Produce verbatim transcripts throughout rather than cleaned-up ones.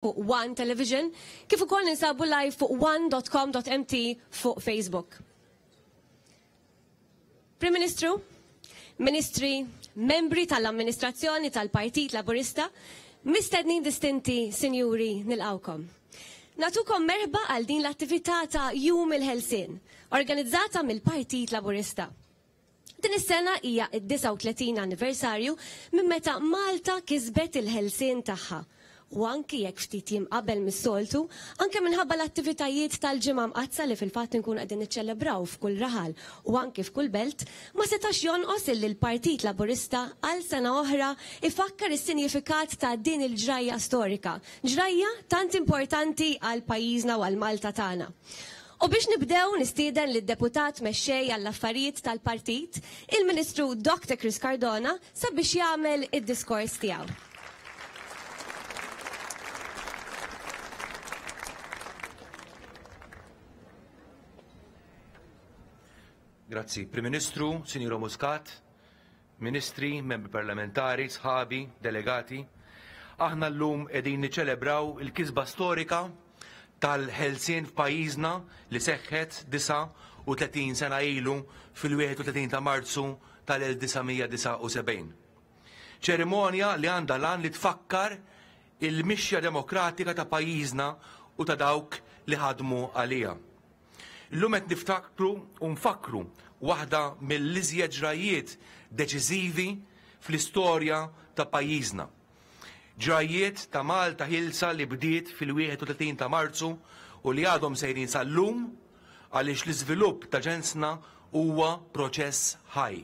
Fuq One Television, kif ukoll ninsabu live fuq one dot com dot M T fuq Facebook. Prim Ministru, Ministri, membri tal-amministrazzjoni tal-Partit Laburista, mistednin distinti, sinjuri, nilqgħukom. Nagħtukom merħba għal din l-attività ta' Jum il-Ħelsien, organizzata mill-Partit Laburista. Din is-sena hija id-disgħa u tletin anniversarju minn meta Malta kisbet il-ħelsien tagħha. U anki jekk ftit jiem qabel mis-soltu, anke minħabba l-attivitajiet tal-Ġimgħa Mqaddsa li fil-fatt nkun qegħdin niċċelebraw f'kull raħal u anki f'kull belt, ma setax jonqos illi l-Partit Laburista għal sena oħra ifakkar is-sinjifikat ta' din il-ġrajja storika, ġrajja tant importanti għal pajjiżna u għal Malta tagħna. U biex nibdew, nistieden lid-deputat mexxej għall-affarijiet tal-partit, il-Ministru Doctor Chris Cardona, sabiex jagħmel id-diskors tiegħu. Grazzi. Prim Ministru, Sinjura Muscat, Ministri, membri parlamentari, sħabi, delegati. Aħna llum qegħdin niċċelebraw il-kisba storika tal-ħelsien f'pajjiżna li seħħet disgħa u tletin sena ilu fil-wieħed u tletin ta' Marzu tal-elf disa' mija disgħa u sebgħin. Ċerimonja li għandha l-għan li tfakkar il-mixja demokratika ta' pajjiżna u ta' dawk li ħadmu għalija. Illum qed niftakru u nfakru waħda mill-iżjed ġrajiet deċiżivi fl-istorja ta' pajjiżna. Ġrajiet ta' Malta ħielsa li bdiet fil-wieħed u tletin ta' Marzu u li għadhom sejrin sal-lum, għaliex l-iżvilupp ta' ġensna huwa proċess ħaj.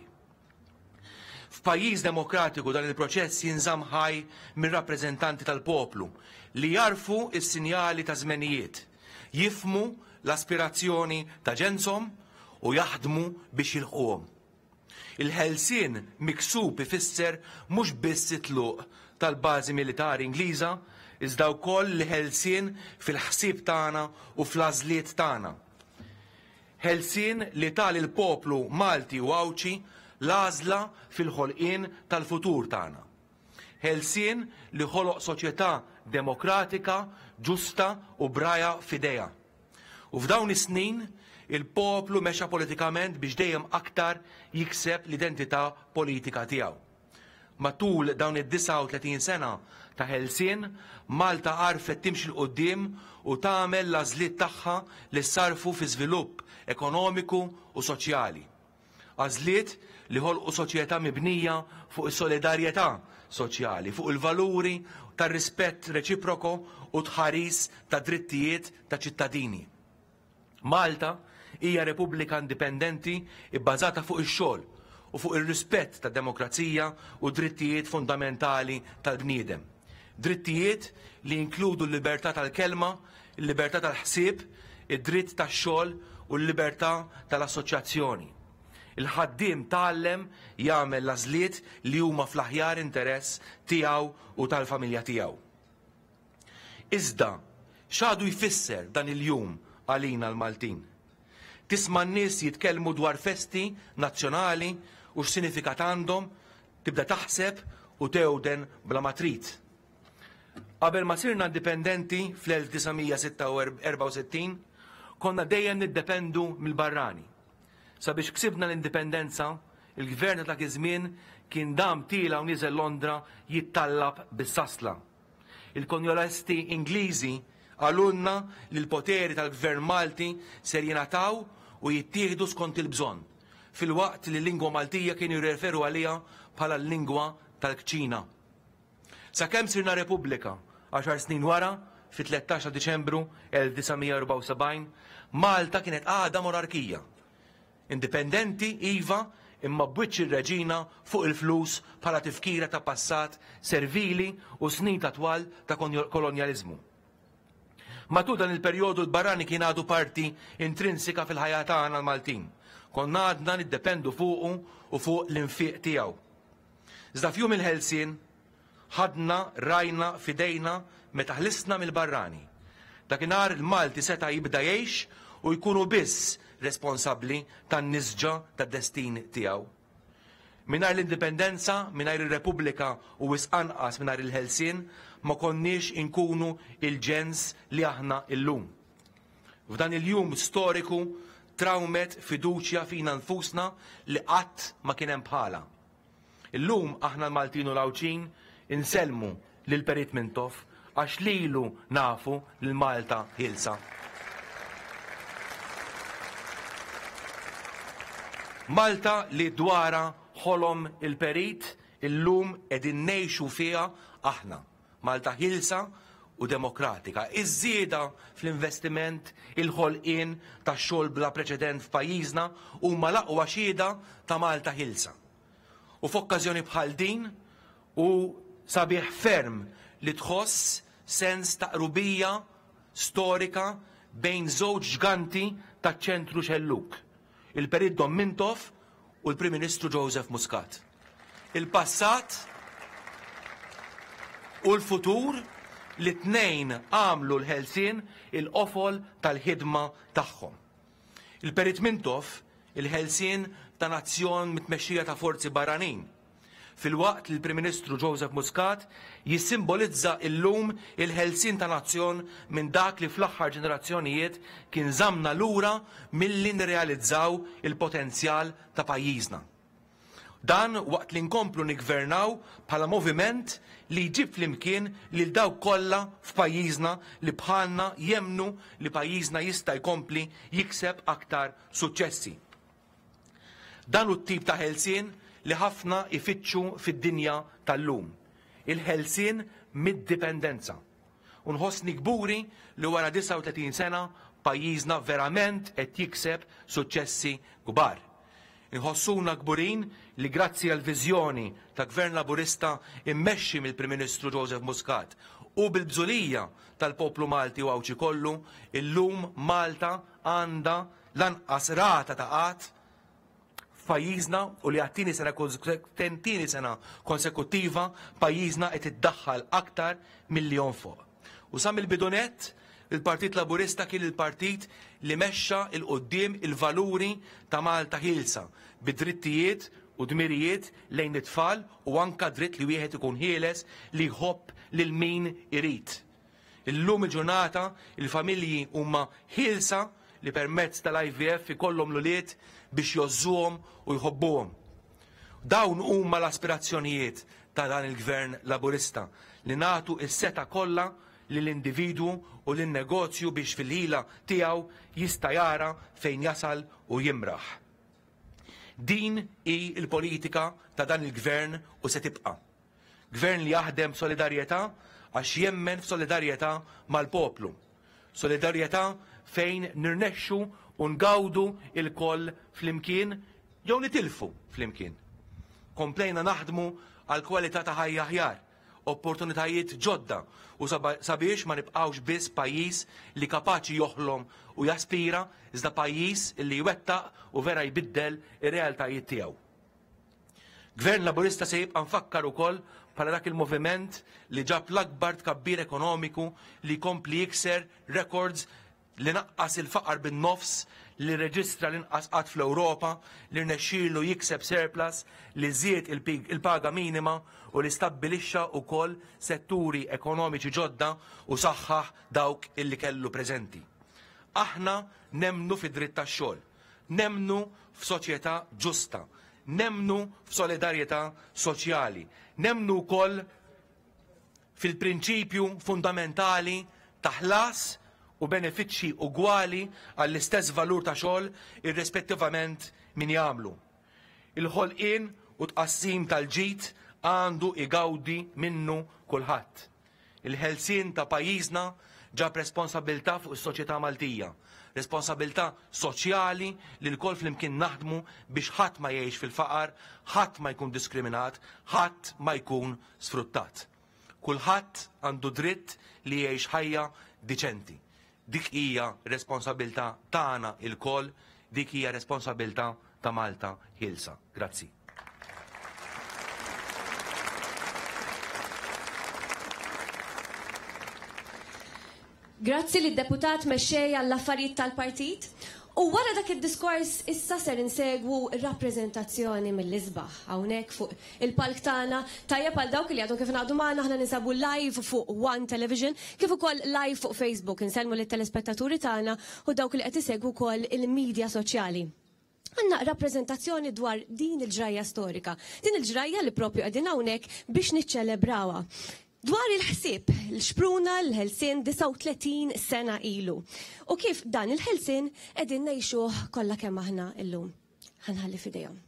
F'pajjiż demokratiku dan il-proċess jinżamm ħaj minn rappreżentanti tal-poplu li jagħrfu s-sinjali ta' żmenijiet, jifhmu l-aspirazzjoni ta' ġenshom u jaħdmu biex jilħquhom. Il-ħelsien miksub ifisser mhux biss it-tluq tal-bażi militari Ingliża, iżda wkoll l-ħelsien fil-ħsieb tagħna u fl-għażliet tagħna. Ħelsien li ta lill-poplu Malti u Għawdxi l-għażla fil-ħolqien tal-futur tagħna. Ħelsien li ħoloq soċjetà demokratika, ġusta u b'rajha f'idejha. U f'dawn is-snin il-poplu mexa politikament biex dejjem aktar jikseb l-identità politika tiegħu. Matul dawn id-disgħa u tletin sena ta' ħelsien, Malta għarfet timxi 'l quddiem u tagħmel l-għażliet tagħha li sarfu fi żvilupp ekonomiku u soċjali. Għażliet li ħolqu soċjetà mibnija fuq is-solidarjetà soċjali, fuq il-valuri tar-rispett reċiproko u tħaris ta' drittijiet ta' ċittadini. Malta hija repubblika indipendenti bbażata fuq ix-xogħol u fuq ir-rispett tad-demokrazija u drittijiet fundamentali tal-bniedem. Drittijiet li jinkludu l-libertà tal-kelma, il-libertà tal-ħsieb, id-dritt tax-xogħol u l-libertà tal-assoċjazzjoni. Il-ħaddiem tgħallem jagħmel l-għażliet li huma fl-aħjar interess tiegħu u tal-familja tiegħu. Iżda, x'għadu jfisser dan il-jum għalina l-Maltin? Tisma' n-nies jitkellmu dwar festi nazzjonali u x'sinifikat għandhom, tibda taħseb u tewden bla ma trid. Qabel ma sirna indipendenti fl-elf disa' mija erbgħa u sittin, konna dejjem niddependu mill-barrani. Sabiex ksibna l-indipendenza, il-gvern ta' dak iż-żmien kien dam tiela' u nieżel Londra jittallab bis-sasla. Il-kolonjalisti Ingliżi qalulna li l-poteri tal-gvern Malti ser jingħataw u jittieħdu skont il-bżonn, filwaqt li l-lingwa Maltija kienu jirreferu għaliha bħala l-lingwa tal-kċina. Sakemm sirna Repubblika, għaxar snin wara, fit-tlettax ta' Diċembru elf disa' mija erbgħa u sebgħin, Malta kienet għadha monarkija. Indipendenti, iva, imma b'wiċċ ir-reġina fuq il-flus bħala tifkira ta' passat servili u snin ta' twal ta' kolonjaliżmu. Matul dan il-perjodu l-barrani kien għadu parti intrinsika fil-ħajja tagħna l-Maltin. Konna għadna niddependu fuqu u fuq l-infiq tiegħu. Iżda f'jum il-ħelsien ħadna rajna f'idejna meta ħlisna mill-barrani. Dakinhar il-Malti seta' jibda jgħix u jkunu biss responsabbli tan-nisġa tad-destin tiegħu. Mingħajr l-indipendenza, mingħajr ir-Repubblika u wisq anqas mingħajr il-ħelsien, ma konniex inkunu il-ġens li aħna illum. F'dan il-jum storiku trawmet fiduċja fina nfusna li qatt ma kien hemm bħala. Illum aħna l-Maltin u l-Għawdxin insellmu lil Perit Mintoff għax lilu nafu lil Malta ħielsa. Malta li dwara ħolom il-Perit illum qegħdin ngħixu fiha aħna. Malta ħielsa u demokratika. Iż-żieda fl-investiment, il-ħolqien ta' xogħol bla preċedent f'pajjiżna huma l-aqwa xhieda ta' Malta ħielsa. U f'okkażjoni bħal din u sabiħ ferm li tħoss sens ta' qrubija storika bejn żewġ ġganti taċ-ċentru xelluk, il-Perit Dom Mintoff u l-Prim Ministru Joseph Muscat. Il-passat u l-futur li tnejn għamlu l-ħelsien il-qofol tal-ħidma tagħhom. Il-Perit Mintoff il-ħelsien ta' nazzjon mitmexxija ta' forzi barranin, filwaqt li l-Prim Ministru Joseph Muscat jissimbolizza illum il-ħelsien ta' nazzjon minn dak li fl-aħħar ġenerazzjonijiet kien żamna lura milli nirrealizzaw il-potenzjal ta' pajjiżna. Dan waqt li nkomplu niggvernaw bħala moviment li jġib flimkien lil dawk kollha f'pajjiżna li bħalna jemnu li pajjiżna jista' jkompli jikseb aktar suċċessi. Dan hu t-tip ta' ħelsien li ħafna ifittxu fid-dinja tal-lum, il-ħelsien mid-dipendenza. U nħossni kburi li wara disgħa u tletin sena pajjiżna verament qed jikseb suċċessi kbar. Inħossuna kburin li grazzi għal viżjoni ta' Gvern Laburista immexxi mill-Prim Ministru Joseph Muscat u bil-bżulija tal-poplu Malti u Għawdxi kollu, illum Malta għandha lanqas rata ta' qatt f'pajjiżna u li għat-tieni sena tieni sena konsekuttiva pajjiżna qed iddaħħal aktar milli jonfoq. U sa mill-bidunet il-Partit Laburista kien il-partit li mexxa il quddiem il-valuri ta' Malta ħielsa bid-drittijiet u dmirijiet lejn it-tfal u anka dritt li wieħed ikun ħieles li jħobb lil min irid. Illum il-ġurnata il-familji huma ħielsa li permezz tal-I V F ikollhom l-ulied biex jgħożżuhom u jħobbuhom. Dawn huma l-aspirazzjonijiet ta' dan il-Gvern Laburista li nagħtu s-seta kollha lill-individwu u lin-negozju biex fil-ħila tiegħu jista' jara fejn jasal u jimraħ. Din hi l-politika ta' dan il-Gvern u se tibqa'. Gvern li jaħdem b'solidarjetà għax jemmen f'solidarjetà mal-poplu. Solidarjetà fejn nirnexxu u ngawdu il-koll flimkien jew nitilfu flimkien. Komplejna naħdmu għal kwalità ta' ħajja aħjar, opportunitajiet ġodda u sabiex ma nibqgħux biss pajjiż li kapaċi joħlom u jaspira, iżda pajjiż li jwettaq u vera jbiddel ir-realtajiet tiegħu. Gvern Laburista se jibqa' nfakkar ukoll bħala dak il-moviment li ġab l-akbar tkabbir ekonomiku li jkompli jikser records li naqqas il-faqar bin-nofs, li reġistra l-inqas qatt fl-Ewropa, li rnexxielu jikseb surplus, li żied il-paga minima u li stabbilixxa wkoll setturi ekonomiċi ġodda u saħħaħ dawk illi kellu preżenti. Aħna nemnu fid-dritt tax-xogħol, nemnu f'soċjetà ġusta, nemnu f'solidarjetà soċjali, nemnu wkoll fil-prinċipju fundamentali ta' ħlas u benefiċċji ugwali għall-istess valur ta' xogħol irrispettivament min jagħmlu. Il-ħolqien u tqassim tal-ġid għandu igawdi minnu kulħadd. Il-ħelsien ta' pajjiżna ġab responsabilità fuq is-soċjetà Maltija, responsabilità soċjali li lkoll flimkien naħdmu biex ħadd ma jgħix fil-faqar, ħadd ma jkun diskriminat, ħadd ma jkun sfruttat. Kulħadd għandu dritt li jgħix ħajja diċenti. Dik hija responsabilità tagħna lkoll, dik hija responsabilità ta' Malta ħielsa. Grazzi. Grazzi lid-deputat mexxej għall-affarijiet tal-partit. U wara dak id-diskors issa ser insegwu rappreżentazzjoni mill-isbaħ hawnhekk fuq il-palk tagħna. Tajjeb għal dawk li għadhom kif ngħaqdu magħna, aħna ninsabu live fuq One Television kif ukoll live fuq Facebook. Insellmu lit-telespettaturi tagħna u dawk li qed isegwu wkoll il-medja soċjali. Għandna rappreżentazzjoni dwar din il-ġrajja storika, din il-ġrajja li propju qegħdin hawnhekk biex niċċelebrawha. Dwar il-ħsieb, l-xpruna l-ħelsien disgħa u tletin sena ilu. U kif dan il-ħelsien qegħdin ngħixuh kollha kemm aħna illum. Ħanħalli f'idejhom.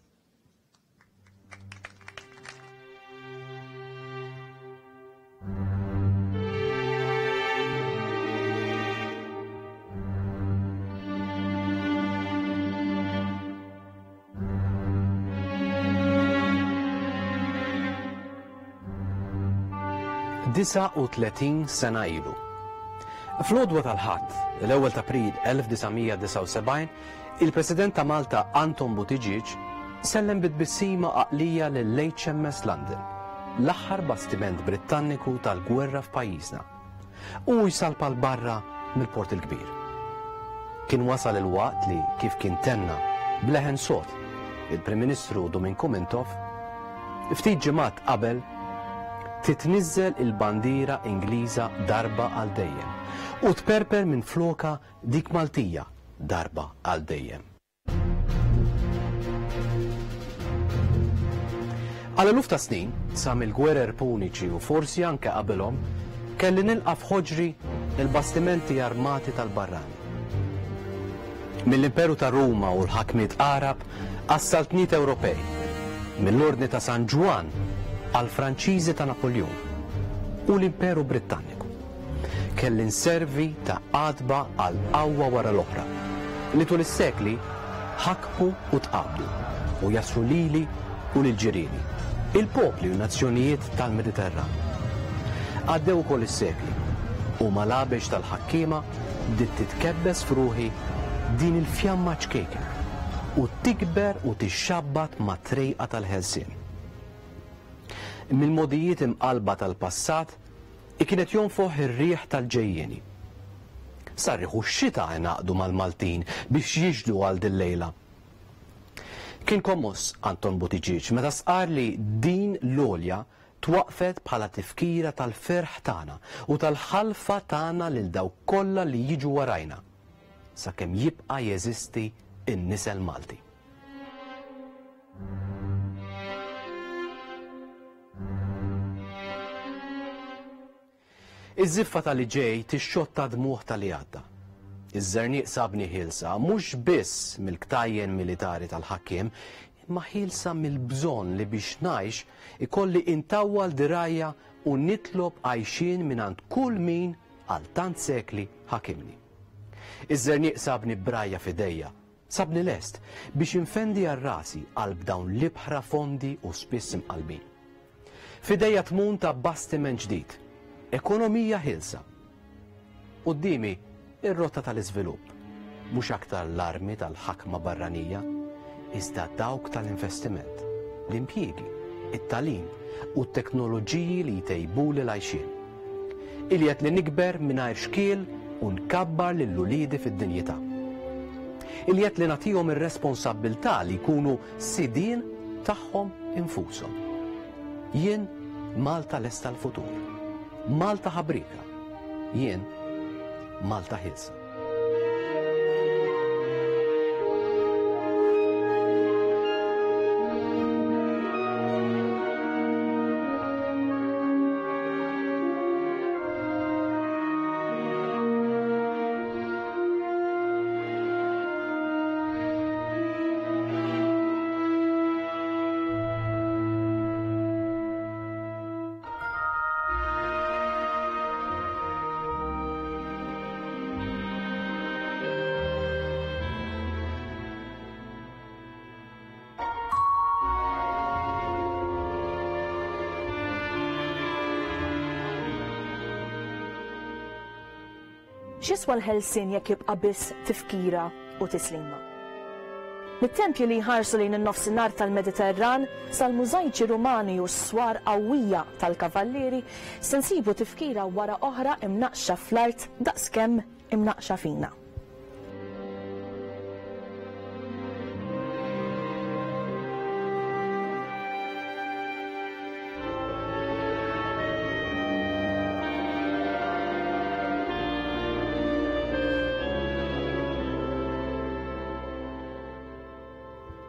disgħa u tletin sena ilu. Fl-għodwa tal-Ħadd, l-ewwel ta' April elf disa' mija disgħa u sebgħin, il-President ta' Malta Anton Buttigieg sellem bit-tbissima għaqlija lill-H M S London, l-aħħar bastiment Brittanniku tal-gwerra f'pajjiżna, u jsalpa l-barra mill-Port il-Kbir. Kien wasal il-waqt li, kif kien tenna bleħen sod il-Prim Ministru Duminku Mintoff, ftit ġimgħat qabel titniżżel il-bandiera Ingliża darba għal dejjem u tperper minn floka dik Maltija darba għal dejjem. Għal eluf ta' snin, sa mill-gwerer puniċi u forsi anke qabelhom, kelli nilqa' f'ħoġri il-bastimenti armati tal-barrani. Mill-Imperu ta' Ruma u l-ħakmiet Arab għas-saltniet Ewropej, mill-Ordni ta' San Ġwann għal-Franċiżi ta' Napoleon u l-Imperu Britanniku. Kelli nservi ta' għatba għal qawwa wara l-oħra li tul is-sekli ħakmu u tqabdu u jasru lili u lil ġirieni, il-popli u nazzjonijiet tal-Mediterran. Għaddew ukoll is-sekli u mal-għabex tal-ħakkiema bdiet titkebbes f'ruħi din il-fjamma ċkejkna u tikber u tixxabbat ma' trejqa tal-ħelsien. Mill-modijiet imqalba tal-passat kienet jonfoħ ir-riħ tal-ġejjieni. Sarriħu x-xita ingħaqdu mal-Maltin biex jiġdu għal dil-lejla. Kien kommoss Anton Buttigieg meta sqar li din l-għolja twaqfet bħala tifkira tal-ferħ tagħna u tal-ħalfa tagħna lil dawk kollha li jiġu warajna sakemm jibqa' jeżisti n-nisel Malti. Iż-żiffa tal-li ġej tixxotta dmuħ tal-li għadda. Iż-żerniq sabni ħielsa mhux biss mill-ktajjen militari tal-ħakkiem, imma ħielsa mill-bżonn li biex ngħix ikolli intawwal dirajja u nitlob għajxien mingħand kull min għal tant sekli ħakimni. Iż-żerniq sabni brajja f'idejja, sabni lest biex infendi għal rasi qalb dawn l-ibħra fondi u spiss imqalbin. F'idejja tmun ta' bastiment ġdid, ekonomija ħielsa. Quddiemi ir-rotta tal-iżvilupp, mhux aktar l-armi tal-ħakma barranija, iżda dawk tal-investiment, l-impjiegi, it-tagħlim u t-teknoloġiji li jtejbuli l-għajxien. Iljet li nikber mingħajr xkiel u nkabbar lil uliedi fid-dinjità. Iljet li nagħtihom ir-responsabbiltà li jkunu sidien tagħhom infushom. Jien Malta lesta l-futur. Malta ħabrika. Jien Malta ħielsa. X'jiswa l-ħelsien jekk jibqa' biss tifkira u tislima? Mit-tempji li jħarsu lejn in-nofsinhar tal-Mediterran sal-mużajċi Rumani u s-swar qawwija tal-Kavallieri se nsibu tifkira wara oħra imnaqxa fl-art daqskemm imnaqxa fina.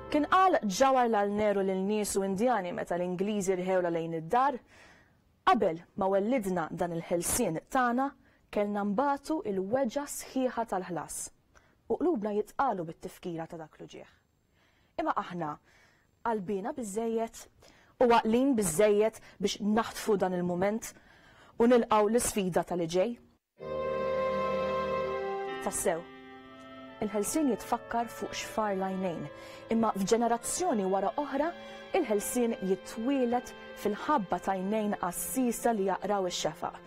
Kien qal Jawaharlal Nehru lil nies u Indjani meta l-Ingliżi rħewla lejn id-dar, qabel ma wellidna dan il-ħelsien tagħna kellna nbatu il-weġgħa sħiħa tal-ħlas u qlubna jitqalu bit-tifkira ta' dak l-uġigħ. Imma aħna qalbina biżejjed u għaqlin biżejjed biex naħtfu dan il-mument u nilqgħu l-isfida tal-ġej. Tassew, il-ħelsien jitfakkar fuq xfar l-għajnejn, imma f'ġenerazzjoni wara oħra il-ħelsien jitwielet fil-ħabba t'għajnejn għassisa li jaqraw ix-xefaq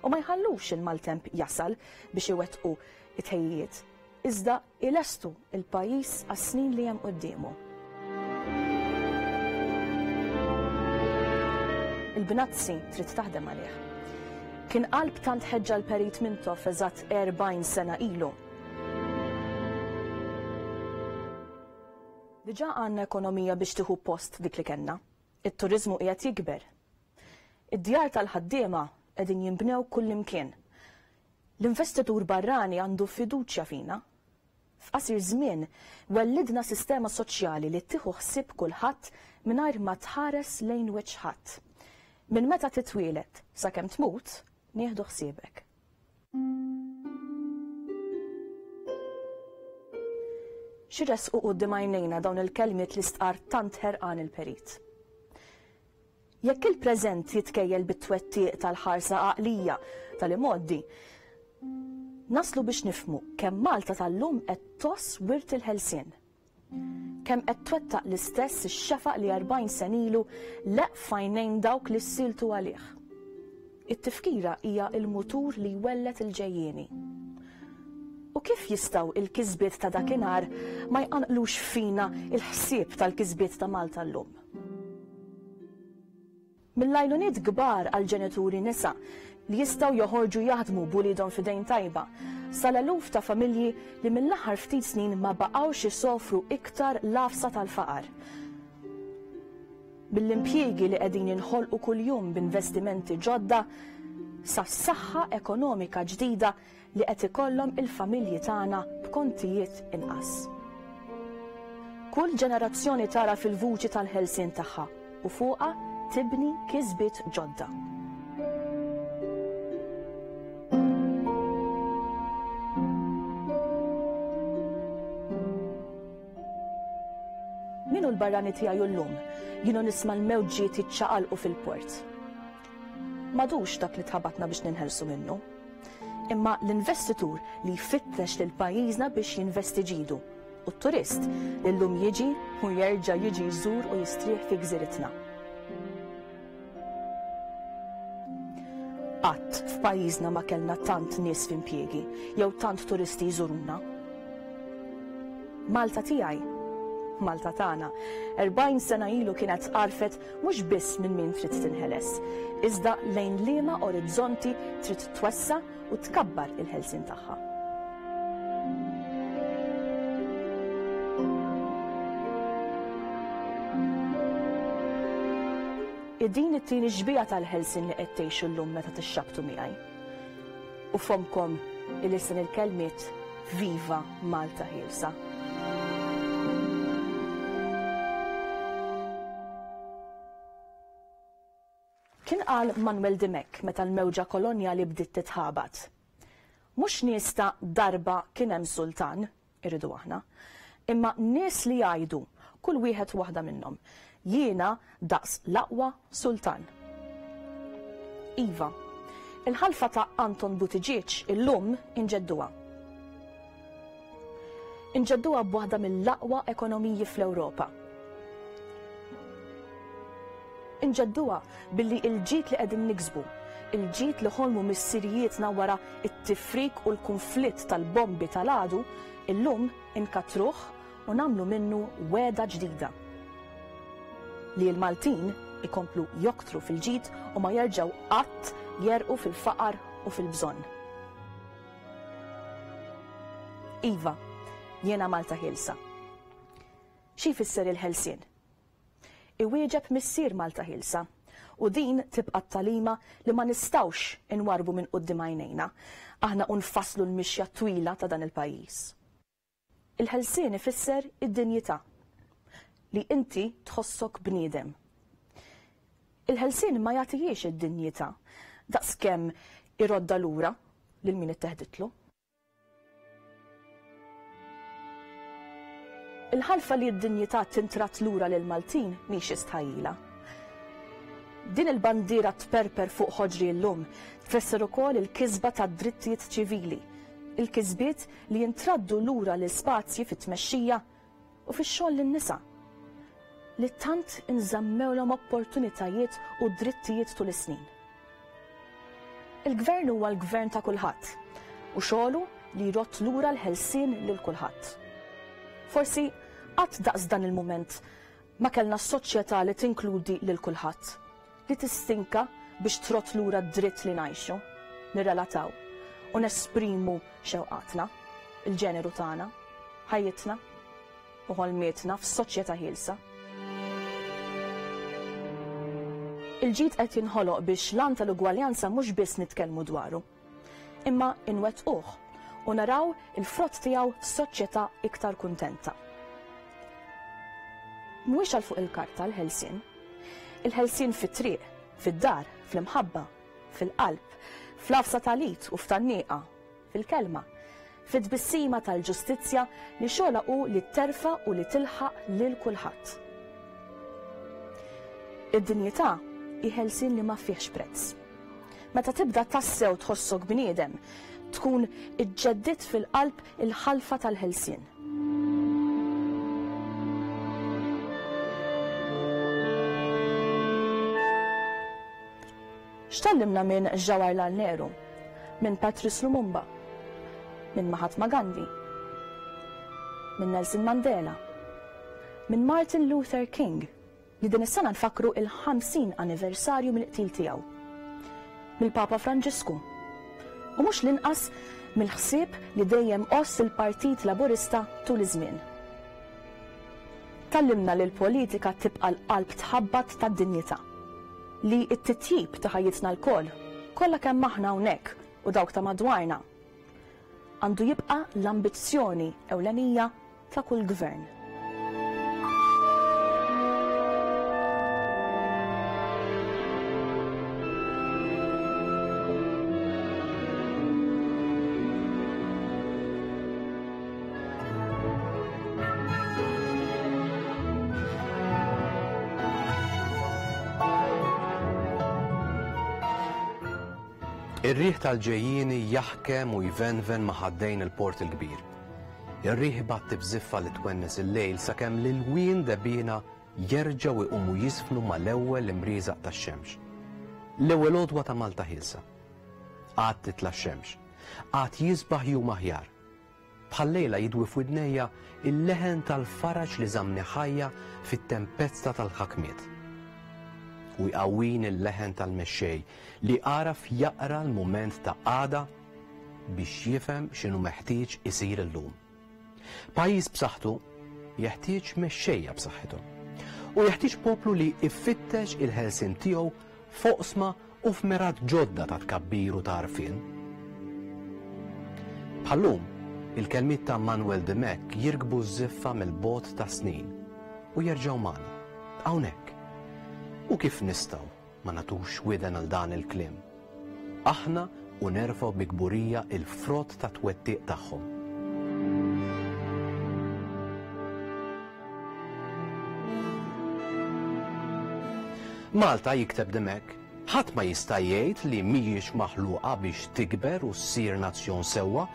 u ma jħallux il-maltemp jasal biex iwettqu it-tħejjiet, iżda ilestu il-pajjiż għas-snin li hemm quddiemu. Il-bnazzi trid taħdem għalih. Kien qalb tant ħeġġa l-Perit Mintoff eżatt erbgħin sena ilu. Diġà għandna ekonomija biex tieħu post dik li kellna. It-turiżmu qiegħed jikber. Id-djar tal-ħaddiema qegħdin jinbnew kullimkien. L-investitur barrani għandu fiduċja fina. F'qasir żmien wellidna sistema soċjali li tieħu ħsieb kulħadd mingħajr ma tħares lejn wiċċ ħadd. Minn meta titwielet sakemm tmut, nieħdu ħsiebek. Xi resqu quddiem għajnejna dawn il-kelmiet li stqar tant ħerqan il-perit. Jekk il-preżent jitkejjel bit-twettiq tal-ħarsa għaqlija tal-imgħoddi, naslu biex nifhmu kemm Malta tal-lum qed toss wirt il-ħelsien. Kemm qed twettaq l-istess ix-xefaq li erbgħin sena ilu leq f'għajnejn dawk li ssiltu għalih. It-tifkira hija l-mutur li jwellet il-ġejjieni. U kif jistgħu il-kisbiet ta' dakinhar ma jqanqlux fina il-ħsieb tal-kisbiet ta' Malta llum? Mill-għajnuniet kbar għal ġenituri nisa li jistgħu joħorġu jaħdmu b'uliedhom f'idejn tajba, sal-eluf ta' familji li mill-aħħar ftit snin ma baqgħux isofru iktar l-għafsa tal-faqar. Mill-impjiegi li qegħdin jinħolqu kuljum b'investimenti ġodda sas-saħħa ekonomika ġdida li qed ikollhom il-familji tagħna b'kontijiet inqas. Kull ġenerazzjoni tara fil-vuċi tal-ħelsien tagħha u fuqha tibni kisbiet ġodda. Min hu l-barrani tiegħi llum jienu nisma' l-mewġiet jiċċaqalqu fil-port. M'għadux dak li tħabatna biex ninħelsu minnu, imma l-investitur li jfittex lil pajjiżna biex jinvesti ġidu u t-turist li llum jiġi u jerġa' jiġi jżur u jistrieħ fi gżiritna. Qatt f'pajjiżna ma kellna tant nies f'impjiegi jew tant turisti jżuruna. Malta tiegħi, Malta tagħna, erbgħin sena ilu kienet għarfet mhux biss minn min trid tinħeles, iżda lejn liema orizzonti trid twessa' u tkabbar il-ħelsien tagħha. Din it-tieni xbieha tal-ħelsien li qed tgħixu llum meta tixxabtu miegħi. U fomkom il-listen il-kelmiet Viva Malta Ħielsa. Kien qal Manuel Dimech meta l-mewġa kolonjali bdiet titħabat. Mhux nies ta' darba kien hemm sultan, irridu aħna, imma nies li jgħidu kull wieħed waħda minnhom, jiena daqs l-aqwa sultan. Iva, il-ħalfa ta' Anton Buttigieg illum inġedduha. Inġedduha b'waħda mill-aqwa ekonomiji fl-Ewropa. Inġedduha billi il-ġid li qegħdin niksbu, il-ġid li ħolmu missirijietna wara it-tifrik u l-konflitt tal-bombi tal-għadu, illum inkatruh u nagħmlu minnu wegħda ġdida. Li l-Maltin ikomplu joktru fil-ġid u ma jerġgħu qatt jerqu fil-faqar u fil-bżonn. Iva, jiena Malta Ħielsa. Xi jfisser il-ħelsien? Iwieġeb missier Malta Ħielsa u din tibqa' t-talima li ma nistgħux inwarbu minn quddiem għajnejna. Aħna u nfasslu l-mixja twila ta' dan il-pajjiż. Il-ħelsien ifisser id-dinjità. li inti tħossok bniedem. Il-ħelsien ma jagħtihiex id-dinjità daqskemm irodda lura lil min itteħditlu. Il-ħalfa li d-dinjità tintrat lura lil Maltin mhix istħajjila. Din il-bandiera tperper fuq ħoġri llum tfisser ukoll il-kisba tad-drittijiet ċivili, il-kisbiet li jintraddu lura l-ispazji fit-tmexxija u fix-xogħol lin-nisa li tant inżammewlhom opportunitajiet u drittijiet tul is-snin. Il-gvern huwa l-gvern ta' kulħadd u xogħlu li jrott lura l-ħelsien lil kulħadd. Forsi qatt daqs dan il-mument ma kellna soċjetà li tinkludi lil kulħadd, li tistinka biex trott lura d-dritt li ngħixu, nirrelataw u nesprimu xewqatna, il-ġeneru tagħna, ħajjitna u ħolmietna f'soċjetà ħielsa. Il-ġid qed jinħoloq biex l-għan tal-ugwaljanza mhux biss nitkellmu dwaru, imma inwettquh u naraw il-frott tiegħu f'soċjetà iktar kuntenta. Mhuwiex għal fuq il-karta l-ħelsien. Il-ħelsien fit-triq, fid-dar, fl-imħabba, fil-qalb, fl-għafsa tal-id u f'tan-nieqa, fil-kelma, fit-tbissima tal-ġustizzja li xogħla hu li terfa' u li tilħaq lil kulħadd. Id-dinjità hi ħelsien li ma fihx prezz. Meta tibda tassew tħossok bniedem, tkun iġġeddit fil-qalb il-ħalfa tal-ħelsien. X'tallimna minn Jawaharlal Nehru, minn Patrice Lumumba, minn Mahatma Gandhi, minn Nelson Mandela, minn Martin Luther King, li din is-sena nfakru il-ħamsin anniversarju mill-qtil tiegħu, mill-Papa Franġisku, u mhux l-inqas mill-ħsieb li dejjem għoss il-Partit Laburista tul iż-żmien. Tallimna li l-politika tibqa' l-qalb tħabbat tad-dinjità, li t-titjib ta' ħajjitna lkoll, kollha kemm aħna hawnhekk u dawk ta' madwarna, għandu jibqa' l-ambizzjoni ewlenija ta' kull gvern. Ir-riħ tal-ġejjieni jaħkem u jvenven ma' ħaddejn il-Port il-Kbir. Ir-riħ ibatti b'żiffa li twennes il-lejl sakemm l-ilwien debina jerġgħu jqumu jisfnu mal-ewwel imrieżaq tax-xemx. L-ewwel għodwa ta' Malta ħielsa. Għad titla' x-xemx. Għad jisbaħ jum aħjar. Bħal-lejla jidwi f'widnejja il-leħen tal-faraġ li żamni ħajja fit-tempesta tal-ħakmiet. U jqawwin il-leħen tal-mexxej li għaraf jaqra l-mument ta' għada biex jifhem x'inhu meħtieġ isir illum. Pajjiż b'saħħtu jeħtieġ mexxejja b'saħħithom. U jeħtieġ poplu li iffittex il-ħelsien tiegħu f'oqsma u f'merat ġodda ta' tkabbir u ta' għarfien. Bħallum, il-kelmiet ta' Manuel Dimech jirkbu ż-żiffa mill-bogħod ta' snin u jerġgħu magħna hawnhekk. U kif nistgħu ma nagħtux widen għal dan il-kliem? Aħna u nerfgħu bi kburija il-frott ta' twettiq tagħhom. Malta, jikteb Dimech, ħadd ma jista' jgħid li mhijiex maħluqa biex tikber u ssir nazzjon sewwa,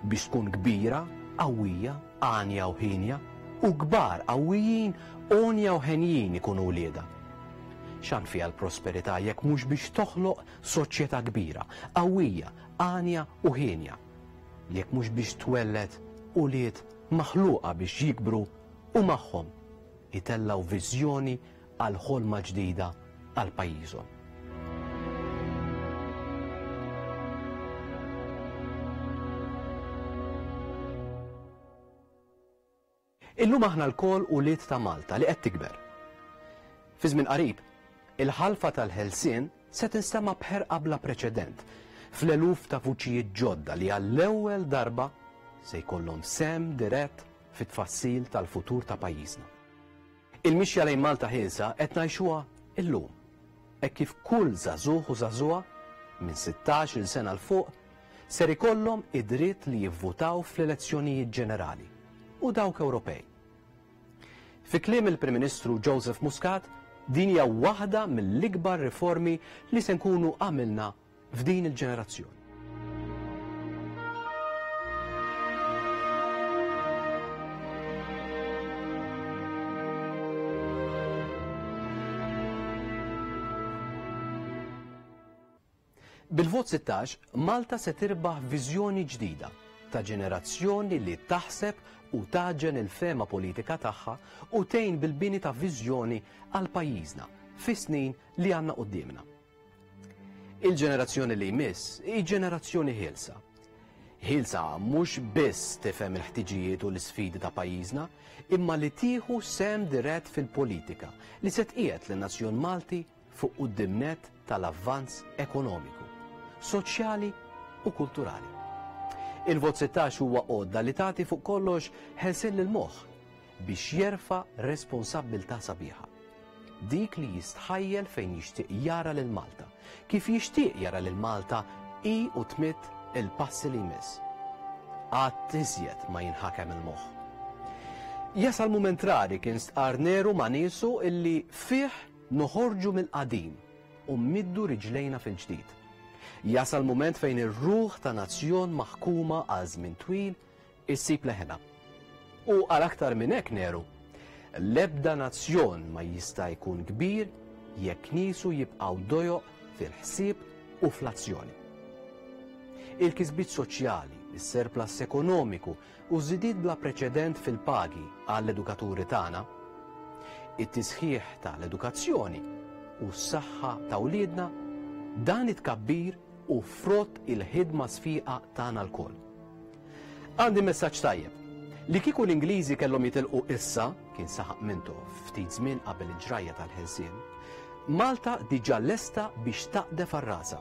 biex tkun kbira, qawwija, għanja u ħinja, u kbar qawwijin, għonja u ħenjin ikunu wliedha. X'għan fiha l-prosperità jekk mhux biex toħloq soċjetà kbira, qawwija, għanja u ħinja, jekk mhux biex twelled ulied maħluqa biex jikbru u magħhom itellgħu viżjoni għal ħolma ġdida għal pajjiżhom. Illum aħna lkoll ulied ta' Malta li qed tikber. Fi żmien qarib, il-ħalfa tal-ħelsien se tinstema' b'ħerqa bla preċedent fl-eluf ta' vuċijiet ġodda li għall-ewwel darba se jkollhom sehem dirett fit-tfassil tal-futur ta' pajjiżna. Il-mixja lejn Malta ħielsa qed ngħixuha illum. Hekk kif kull żagħżugħ u żagħżugħa minn sittax-il sena 'l fuq ser ikollhom id-dritt li jivvutaw fl-elezzjonijiet ġenerali u dawk Ewropej. Fi kliem il-Prim Ministru Joseph Muscat, din hija waħda mill-ikbar riformi li se nkunu għamilna f'din il-ġenerazzjoni. Bil-vot sittax, Malta se tirbaħ viżjoni ġdida ta' ġenerazzjoni li taħseb u taġen il-fema politika tagħha u tgħin bil-bini ta' viżjoni għal pajjiżna fis-snin li għandna quddiemna. Il-ġenerazzjoni li jmiss hi ġenerazzjoni ħielsa. Ħielsa mhux biss tifhem il-ħtiġijiet u l-isfidi ta' pajjiżna, imma li tieħu sehem dirett fil-politika li se tqiegħed lin-nazzjon Malti fuq quddiem nett tal-avvanz ekonomiku, soċjali u kulturali. Il-vot sittax huwa għodda li tagħti fuq kollox ħelsien lill-moħħ biex jerfa' responsabbiltà sabiħa. Dik li jistħajjel fejn jixtieq jara lil Malta, kif jixtieq jara lil Malta hi u tmitt il-passi li jmiss. Qatt iżjed ma jinħakem il-moħħ. Jasal mument rari kien stqarr Neru ma' niesu illi fih noħorġu mill-qadim u mmiddu riġlejna fil-ġdid. Jasal mument fejn ir-ruħ ta' nazzjon maħkuma għal żmien twil issib leħena. U għal aktar minn hekk Neru, l-ebda nazzjon ma jista' jkun kbir jekk niesu jibqgħu dojoq fil-ħsieb u fl-azzjoni. Il-kisbiet soċjali, is-surplus ekonomiku u żidiet bla preċedent fil-pagi għall-edukaturi tagħna, it-tisħiħ tal-edukazzjoni u s-saħħa ta' wliedna, dan it-tkabbir u frott il-ħidma sfiqa tagħna lkoll. Għandi messaġġ tajjeb. Li kieku l-Ingliżi kellhom jitilqu issa, kien saħaq Mintoff ftit żmien qabel il-ġrajja tal-ħelsien, Malta diġà lesta biex taqdef għar-rasa.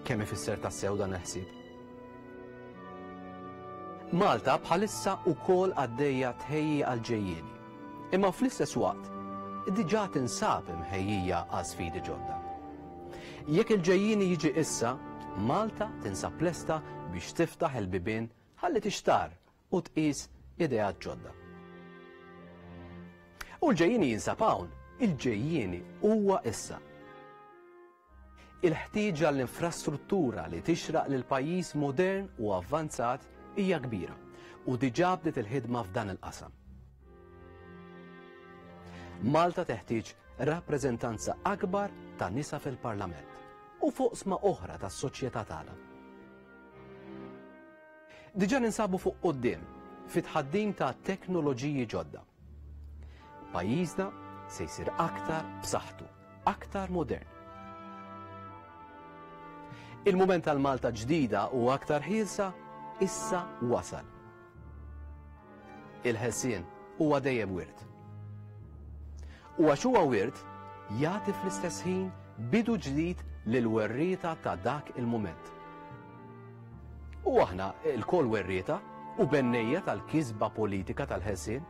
Kemm ifisser tassew dan il-ħsieb? Malta bħalissa wkoll għaddejja tħejji għal-ġejjieni, imma fl-istess waqt diġà tinsab imħejjija għal sfidi ġodda. Jekk il-ġejjieni jiġi issa, Malta tinsab lesta biex tiftaħ il-bibien ħalli tixtar u tqis ideat ġodda. U l-ġejjieni jinsab hawn, il-ġejjieni huwa issa. Il-ħtieġa l-infrastruttura li tixraq lil pajjiż modern u avvanzat hija kbira u diġà bdiet il-ħidma f'dan il-qasam. Malta teħtieġ rappreżentanza akbar ta' nisa fil-Parlament u fuq sma oħra tas-soċjetà tagħna. Diġà ninsabu fuq quddiem fit-tħaddim ta' teknoloġiji ġodda. Pajjiżna se jsir aktar b'saħħtu, aktar modern. Il-mument tal-Malta ġdida u aktar ħielsa issa wasal. Il-ħelsien huwa dejjem wirt. U għax huwa wirt, jagħti fl-istess ħin bidu ġdid lil werrieta ta' dak il-mument. U aħna lkoll werrieta u bennejja tal-kisba politika tal-ħelsien,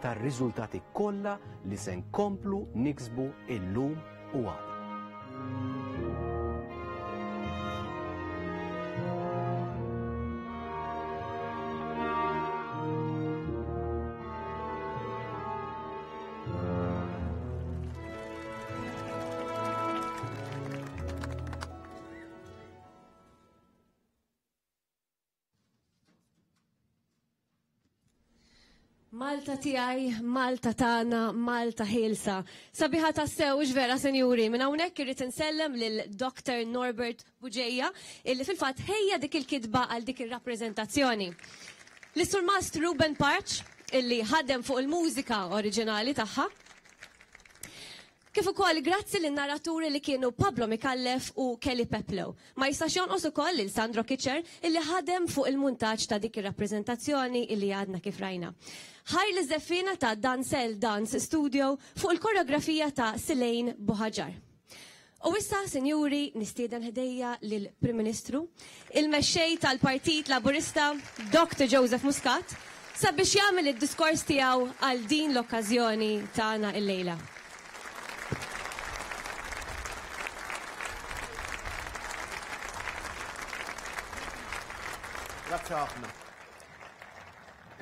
tar-riżultati kollha li se nkomplu niksbu illum u għada. Malta tiegħi, Malta tagħna, Malta ħielsa. Sabiħa tassew vera, senjuri, minn hawnhekk irrid insellem lil Doctor Norbert Bugeja illi fil-fatt ħejja dik il-kitba għal dik ir-rappreżentazzjoni. L-Sur Mast Ruben Parch illi ħadem fuq il-mużika oriġinali tagħha. Kif ukoll grazzi lin narraturi li kienu Pablo Micallef u Kelly Peplow. Ma jistax jonqos ukoll lil Sandro Kitcher illi ħadem fuq il-muntaġġ ta' dik ir-rappreżentazzjoni illi għadna kif rajna. Ħajr li żeffina ta' Dancel Dance Studio fuq il-koreografija ta' Silejn Buhaġar. U issa, sinjuri, nistieden ħdejja lill-Prim Ministru, il-mexxej tal-Partit Laburista, Doctor Joseph Muscat, sabiex jagħmel id-diskors tiegħu għal din l-okkażjoni tagħna illejla. Grazzi ħafna.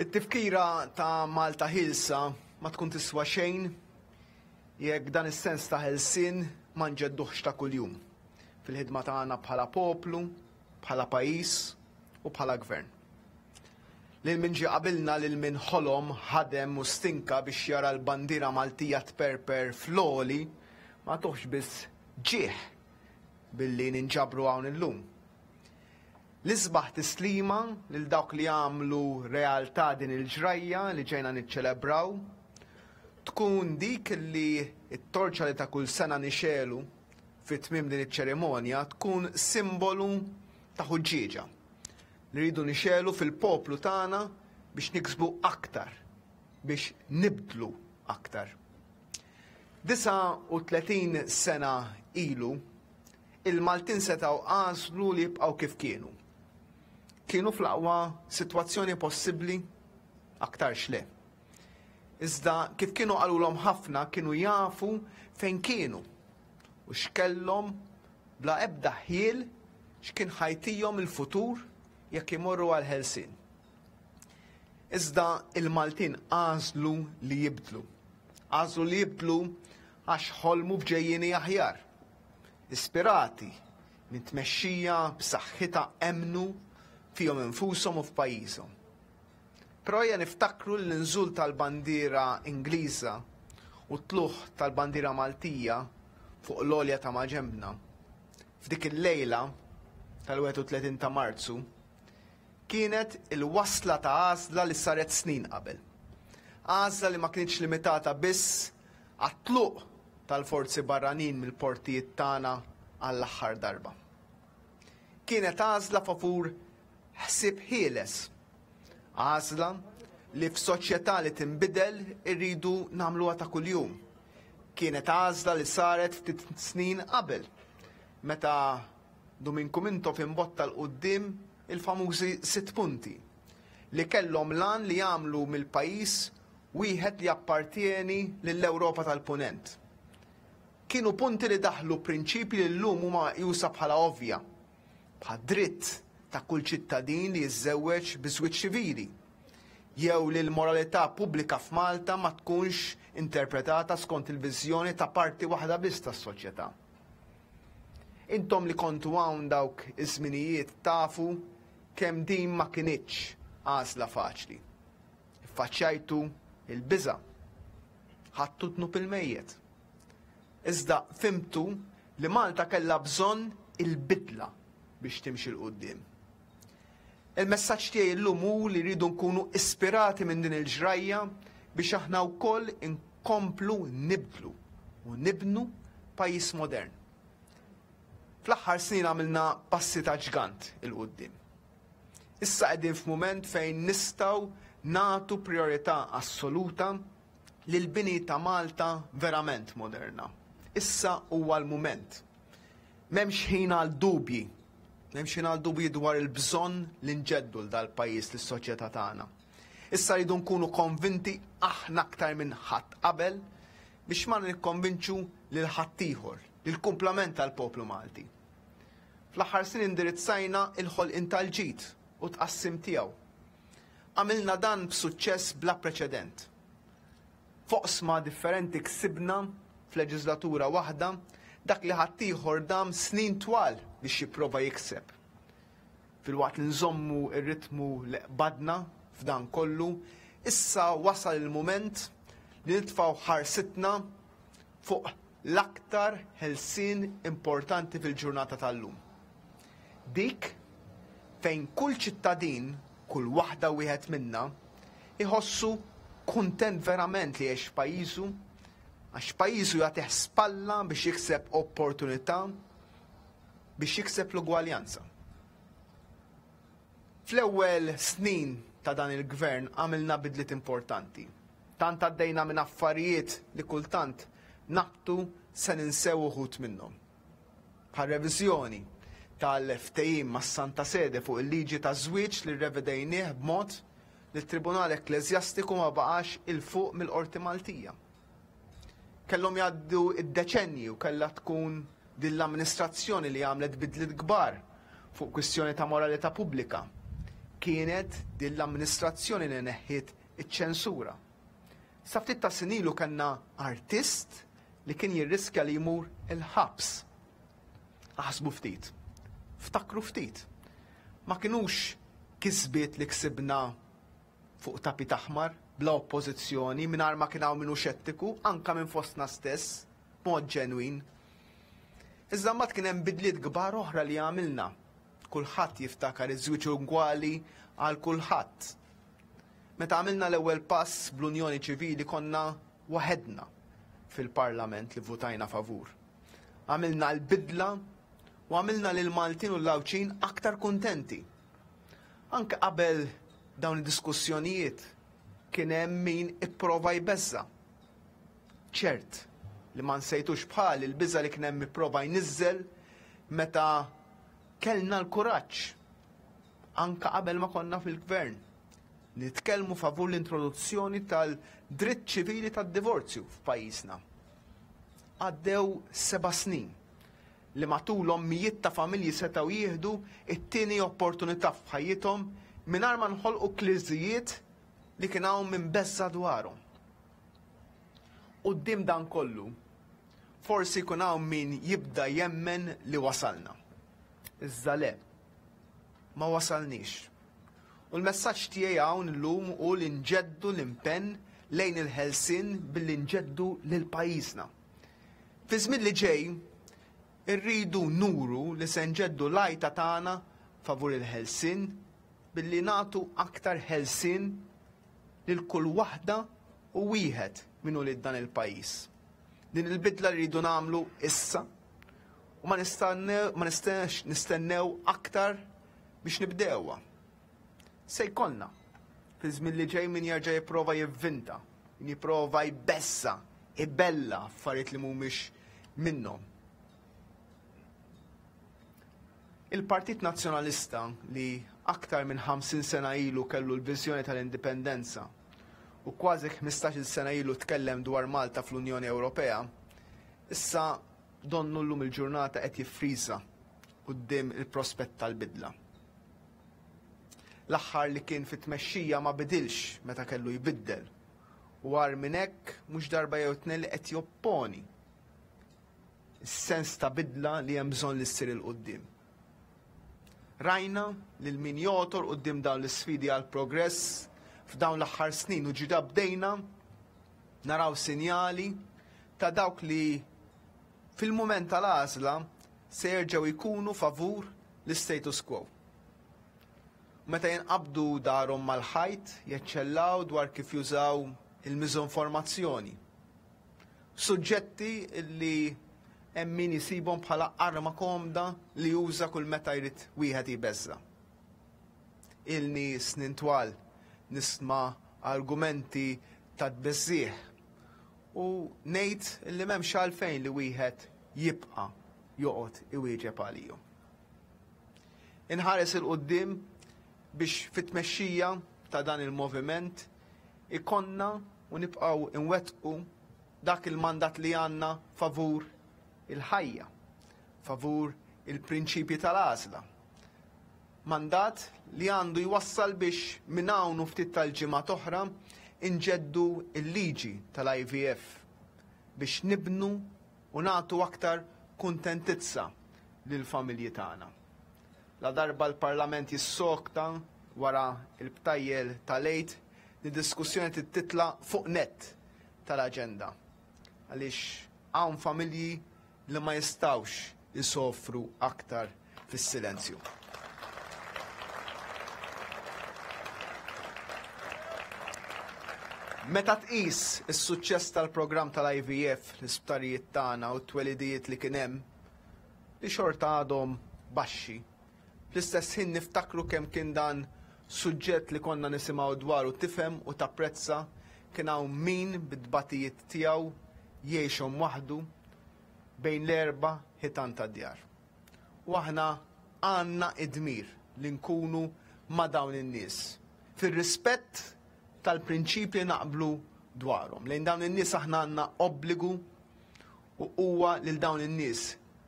It-tifkira ta' Malta ħielsa ma tkun tiswa xejn jekk dan is-sens ta' ħelsien ma nġedduhx ta' kuljum fil-ħidma tagħna bħala poplu, bħala pajjiż u bħala gvern. Lil min ġie qabilna, lil min ħolom, ħadem u stinka biex jara l-bandiera Maltija tperper fl-għoli, ma tuħx biss ġieħ billi ninġabru hawn illum. L-isbaħ tislima lil dawk li għamlu realtà din il-ġrajja li ġejna niċċelebraw tkun dik li t-torċa li ta' kull sena nixelu fi tmiem din iċ-ċerimonja tkun simbolu ta' ħuġġieġa li rridu nixelu fil-poplu tagħna biex niksbu aktar, biex nibdlu aktar. Disa u tletin sena ilu, il-Maltin setgħu għażlu li jibqgħu kif kienu. Kienu fl-aqwa sitwazzjoni possibbli, aktarx le. Iżda kif kienu qalulhom ħafna kienu jafu fejn kienu u x'kellhom bla ebda ħiel x'kien ħajtihom il-futur jekk imorru għal ħelsien. Iżda il-Maltin għażlu li jibdlu. Għażlu li jibdlu għax ħolmu b'ġejjieni aħjar. Ispirati minn tmexxija b'saħħitha emmnu fihom infushom u f'pajjiżhom. Però ejja niftakru l-inżul tal-bandiera Ingliża u t-tluħ tal-bandiera Maltija fuq l-għolja ta' maġenbna. F'dik il-lejla tal-wieħed u tletin ta' Marzu kienet il-wasla ta' għażla li saret snin qabel. Għażla li ma kienx limitata biss għat-tluq tal-forzi barranin mill-portijiet tagħna għall-aħħar darba. Kienet għażla favur ħsieb ħieles. Għażla li f'soċjetà li tinbidel irridu nagħmluha ta' kuljum. Kienet għażla li saret ftit snin qabel, meta Duminku Mintoff imbotta l-quddiem il-famużi sitt punti li kellhom lan li jagħmlu mill-pajjiż wieħed li jappartieni lill-Ewropa tal-Punent. Kienu punti li daħlu prinċipji li llum huma meqjusa bħala ovvja, bħad dritt ta' kull ċittadin li jiżżewweġ bi żwieġ ċivili, jew li l-moralità pubblika f'Malta ma tkunx interpretata skont il-viżjoni ta' parti waħda biss tas-soċjetà. Intom li kontu hawn dawk iż-żminijiet tafu kemm din ma kinitx għażla faċli. Iffaċċjajtu il-biża', ħadtu dnub il-mejjet. Iżda fimtu li Malta kellha bżonn il-bidla biex timxi 'l quddiem. Il-messaġġ tiegħi llum hu li rridu nkunu ispirati minn din il-ġrajja biex aħna wkoll inkomplu nibdlu u nibnu pajjiż modern. Fl-aħħar snin għamilna passi ta' ġgant 'il quddiem. Issa qegħdin f'mument fejn nistgħu nagħtu priorità assoluta lil bini ta' Malta verament moderna. Issa huwa l-mument. M'hemmx ħin għal dubji. M'hemmx ħin għal dubji dwar il-bżonn li nġeddu l dal-pajjiż lis-soċjetà tagħna. Issa rridu nkunu konvinti aħna aktar minn ħadd qabel biex ma nikkonvinċu lil ħaddieħor, lill-kumplament tal-poplu Malti. Fl-aħħar snin indirizzajna il-ħolqien tal-ġid u tqassim tiegħu. Għamilna dan b'suċċess bla preċedent. Foqsma differenti ksibna f'leġislatura waħda dak li ħaddieħor dam snin twal biex jipprova jikseb. Filwaqt li nżommu r-ritmu li qbadna f'dan kollu, issa wasal il-mument li nitfgħu ħarsitna fuq l-aktar ħelsien importanti fil-ġurnata tal-lum. Dik fejn kull ċittadin, kull waħda wieħed minna, iħossu kuntent verament li jgħix f'pajjiżu, għax pajjiżu jagħtih spalla biex jikseb opportunità, biex jikseb l-ugwaljanza. Fl-ewwel snin ta' dan il-gvern għamilna bidliet importanti. Tant għaddejna minn affarijiet li kultant naqtu se ninsew uħud minnhom. Bħal reviżjoni tal-ftehim mas-Santa Sede fuq il-liġi ta' żwieġ li rrevedejnieh b'mod li t-Tribunal Ekkleżjastiku ma baqax 'il fuq mill-Qorti Maltija. Kellhom jgħaddu id-deċenji u kellha tkun din l-amministrazzjoni li għamlet bidliet kbar fuq kwistjoni ta' moralità pubblika. Kienet din l-amministrazzjoni li neħħiet iċ-ċensura. Sa ftit ta' snin ilu kellna artist li kien jirriskja li jmur il-ħabs. Aħsbu ftit, ftakru ftit. Ma kinux kisbiet li ksibna fuq tapit aħmar, bla oppożizzjoni, mingħajr ma kien hawn min hu xettiku, anka minn fostna stess, b'mod ġenwin. Iżda mbagħad kien hemm bidliet kbar oħra li għamilna. Kulħadd jiftakar iż-żwieġ ugwali għal kulħadd. Meta għamilna l-ewwel pass bl-Unjoni Ċivili konna waħedna fil-Parlament li votajna favur. Għamilna l-bidla u għamilna lil Maltin u l-Għawdxin aktar kuntenti. Anke qabel dawn id-diskussjonijiet kien hemm min ipprova jbeżża. Ċert li ma nsejtux bħal il-biża li kien hemm ipprova jniżżel meta kellna l-kuraġġ anka qabel ma konna fil-gvern nitkellmu favur l-introduzzjoni tal-dritt ċivili tad-divorzju f'pajjiżna. Għaddew seba' snin li matulhom mijiet ta' familji setgħu jieħdu it-tieni opportunità f'ħajjithom mingħajr ma nħolqu kriżijiet li kien hawn minn beża dwarhom. Quddiem dan kollu, forsi jkun hawn min jibda jemmen li wasalna. Iżda le, ma wasalniex. U l-messaġġ tiegħi hawn illum hu li nġeddu l-impenn lejn il-ħelsien billi nġeddu lil pajjiżna. Fi żmien li ġej, irridu nuru li se nġeddu l-għajta tagħna favur il-ħelsien billi nagħtu aktar ħelsien lil kull waħda u wieħed minn ulied dan il-pajjiż. Din il-bidla li rridu nagħmlu issa u ma nistennew, ma nistennex nistennew aktar biex nibdewha. Se jkollna fi żmien li ġej min jerġa' jipprova jivvinta, min jipprova jbeżża', ibella affarijiet li mhumiex minnhom. Il-Partit Nazzjonalista li aktar minn ħamsin sena ilu kellu l-viżjoni tal-indipendenza u kważi ħmistax-il sena ilu tkellem dwar Malta fl-Unjoni Ewropea, issa donnu llum il-ġurnata qed jiffriża quddiem il-prospett tal-bidla. L-aħħar li kien fit-tmexxija ma bidilx meta kellu jbiddel u għar minn hekk mhux darba jew tnejn li qed jopponi is-sens ta' bidla li hemm bżonn li ssir il-quddiem. Rajna lil min jotor quddiem dawn l-isfidi għal progress f'dawn l-aħħar snin u ġida bdejna naraw sinjali ta' dawk li fil-mument tal-għażla se jerġgħu jkunu favur l-status quo. Meta jinqabdu darhom mal-ħajt, jeċċellaw dwar kif jużaw il-miżinformazzjoni. Suġġetti li hemm min jisibhom bħala arma komda li juża kull meta jrid wieħed jbeżża. Ilni snin twal nisma' argumenti ta' tbeżżieħ u ngħid li m'hemmx għalfejn li wieħed jibqa' joqgħod iwieġeb għalihom. Inħares il-quddiem biex fit-tmexxija ta' dan il-moviment ikonna u nibqgħu nwettqu dak il-mandat li għandna favur il-ħajja, favur il-prinċipji tal-għażla. Mandat li għandu jwassal biex minn hawn u ftit tal-ġimgħat oħra inġeddu il-liġi tal-I V F biex nibnu u nagħtu aktar kuntentizza lill-familji tagħna. La darba l-Parlament jissokta wara il-btajjel tal-Għid, li diskussjoni titla fuq net tal-aġenda. Għaliex hawn familji li ma jistawx jisofru aktar fis-silenzju. Meta tqis is-suċċess tal-programm tal-I V F, l-isptarijiet tagħna u t-twelidijiet li kien hemm, li xorta għadhom baxxi, fl-istess ħin niftakru kemm kien dan suġġett li konna nisimgħu dwaru tifhem u tapprezza kien hawn min bit-tbatijiet tiegħu jgħixhom waħdu bejn l-erba' ħitan tad-djar. U aħna għandna id-dmir li nkunu ma' dawn in-nies, Fir-rispett tal-prinċipji naqblu dwarhom. Lejn dawn in-nies aħna għandna obbligu u huwa lil dawn in-nies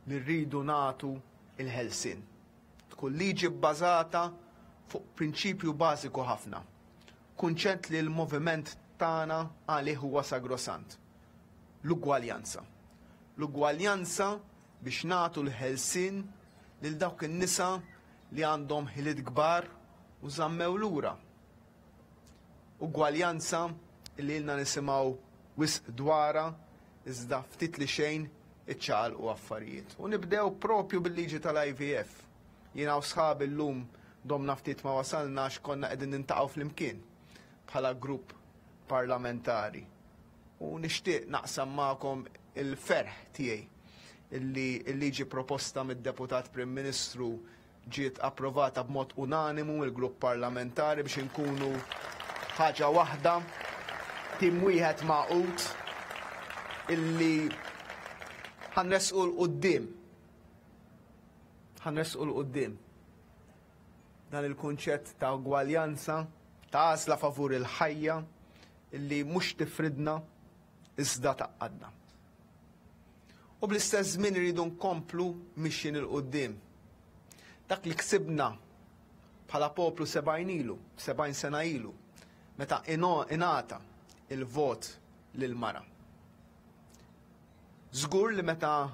li rridu nagħtu il-ħelsien. Tkun liġi bbażata fuq prinċipju bażiku ħafna. Kunċett li l-moviment tagħna għalih huwa sagrosant. L-ugwaljanza. L-ugwaljanza biex nagħtu l-ħelsien lil dawk in-nisa li għandhom ħiliet kbar u żammew lura. Ugwaljanza li ilna nisimgħu wisq dwarha iżda ftit li xejn iċċaqalqu affarijiet. U nibdew propju bil-liġi tal-I V F. Jiena u sħabi llum domna ftit ma wasalna għax konna qegħdin nintaqgħu flimkien bħala grupp parlamentari. U nixtieq naqsam magħkom il-ferħ tiegħi illi l-liġi proposta mid-Deputat Prim Ministru ġiet approvata b'mod unanimu mill-grupp parlamentari biex inkunu ħaġa waħda, tim wieħed magħqud illi ħanresqu 'l quddiem. Ħanresqu 'l quddiem. Dan il-kunċett ta' ugwaljanza, ta' għażla favur il-ħajja illi mhux tifridna iżda tgħaqqadna. U bl-istess żmien iridu nkomplu mixjin il quddiem. Dak li ksibna bħala poplu sebgħin ilu, sebgħin sena ilu, meta ingħata il-vot lil mara. Żgur li meta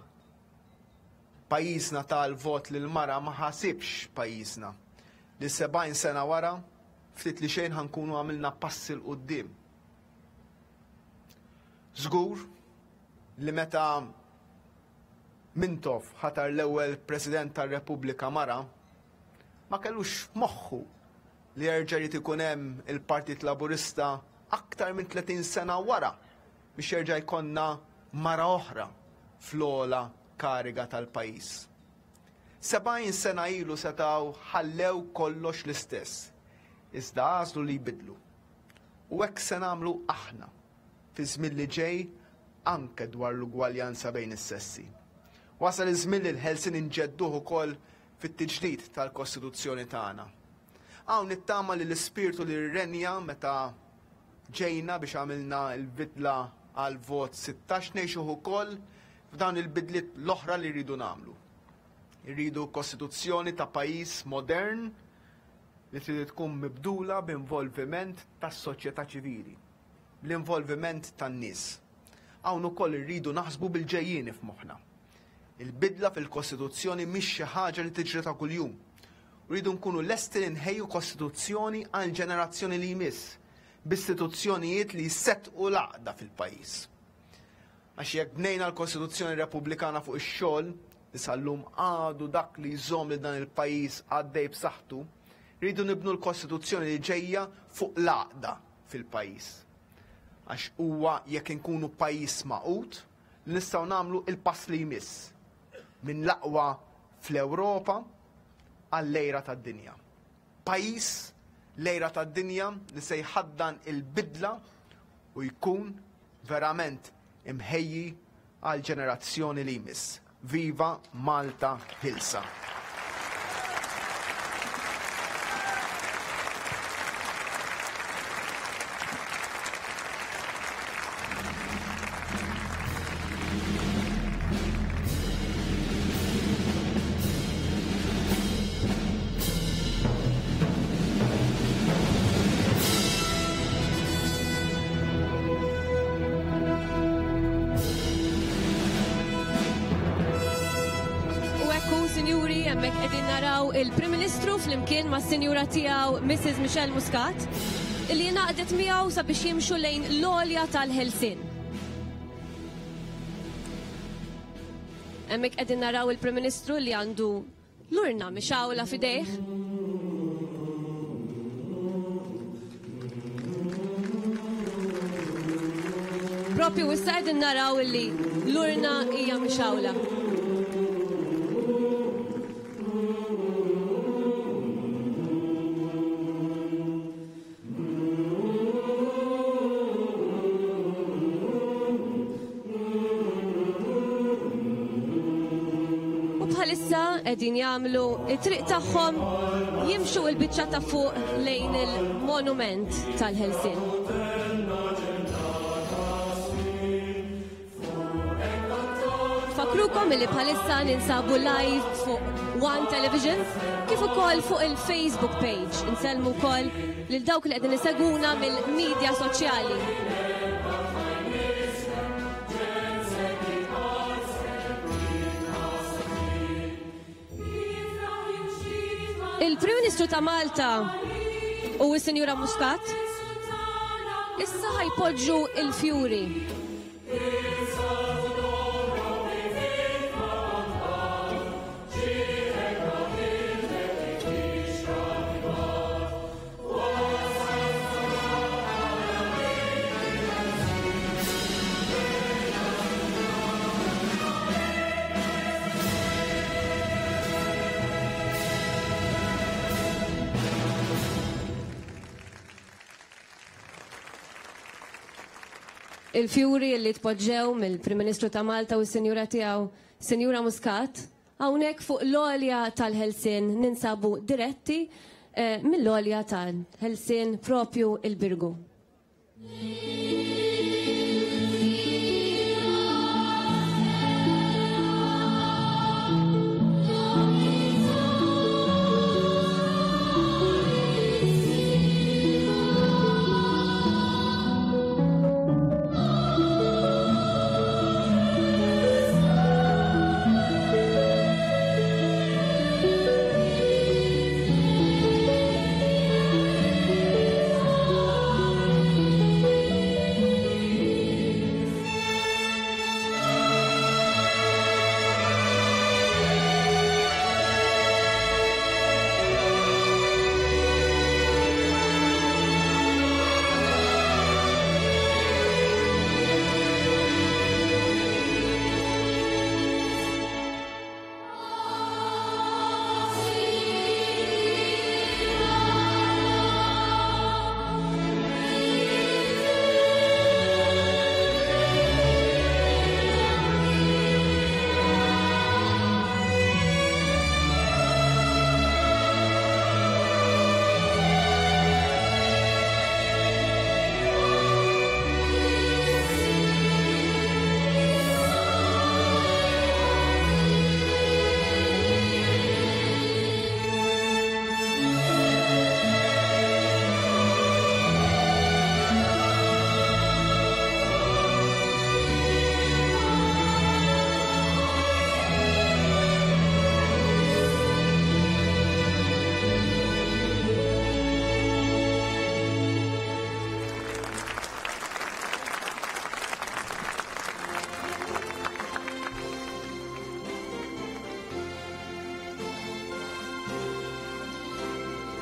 pajjiżna ta l-vot lil mara ma ħasibx pajjiżna li sebgħin sena wara ftit li xejn ħankunu għamilna passi 'l quddiem. Żgur li meta Mintoff ħatar l-ewwel President tar-Repubblika mara, ma kellux moħħu li jerġa' jrid ikun hemm il-Partit Laburista aktar minn tletin sena wara biex jerġa' jkollna mara oħra fl-ogħla kariga tal-pajjiż. Sebgħin sena ilu setgħu ħallew kollox l-istess, iżda għażlu li jbidlu. U hekk se nagħmlu aħna fi żmien li ġej anke dwar l-ugwaljanza bejn is-sessi. Wasal iż-żmien li l-ħelsien inġedduh ukoll fit-tiġdid tal-Kostituzzjoni tagħna. Hawn nittama li l-ispirtu li rrenja meta ġejna biex għamilna l-bidla għal vot sittax ngħixuh ukoll f'dawn il-bidliet l-oħra li rridu nagħmlu. Irridu kostituzzjoni ta' pajjiż modern li trid tkun mibdula b'involviment tas-soċjetà ċivili, bl-involviment tan-nies. Hawn ukoll irridu naħsbu bil-ġejjieni f'moħħna. Il-bidla fil-Kostituzzjoni mhix xi ħaġa li tiġri ta' kuljum. Rridu nkunu lesti li nħejju Kostituzzjoni għal ġenerazzjoni li jmiss, b'istituzzjonijiet li jsettqu l-għaqda fil-pajjiż. Għax jekk bnejna l-Kostituzzjoni Repubblikana fuq ix-xogħol, li sal-lum għadu dak li jżomm li dan il-pajjiż għaddej b'saħħtu, rridu nibnu l-Kostituzzjoni li ġejja fuq l-għaqda fil-pajjiż. Għax huwa jekk inkunu pajjiż magħqud li nistgħu nagħmlu il-pass li jmiss minn l-aqwa fl-Ewropa għall-lejra tad-dinja. Pajjiż lejra tad-dinja li se jħaddan il-bidla u jkun verament imħejji għal ġenerazzjoni li jmiss. Viva Malta Ħielsa! Sinjuri, hemmhekk qegħdin naraw il-Prim Ministru flimkien mas-Sinjura tiegħu Missus Michelle Muscat, illi ngħaqdet miegħu sabiex jimxu lejn l-għolja tal-ħelsien. Hemmhekk qegħdin naraw il-Prim Ministru li għandu l-urna mixgħula f'idejh. Propju issa qegħdin naraw illi l-urna hija mixgħula. Bħalissa qegħdin jagħmlu it-triq tagħhom jimxu l-biċċa ta' fuq lejn il-monument tal-Ħelsien. Fakrukom li bħalissa ninsabu live fuq One Television kif ukoll fuq il-Facebook page. Insellmu wkoll lil dawk li qegħdin isegwuna mill-medja soċjali. Il-Prim Ministru ta' Malta u s-Sinjura Muscat issa ħajpoġġu il-fjuri. Il-fjuri li tpoġġew mill-Prim Ministru ta' Malta u s-Sinjura tiegħu, Sinjura Muscat, hawnhekk fuq l-għolja tal-Ħelsien ninsabu diretti eh, mill-għolja tal-Ħelsien propju il-Birgu.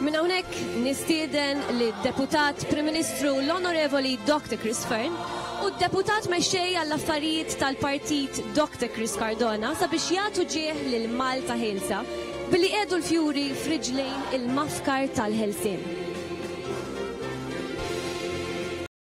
Minn hawnhekk nistieden lid-Deputat Prim Ministru l-Onorevoli Doctor Chris Fearne u d-Deputat Mexxej għall-Affarijiet tal-Partit Doctor Chris Cardona sabiex jagħtu ġieħ lil Malta Ħielsa billi qiegħdu l-fjuri f'riġlejn il-mafkar tal-Ħelsien.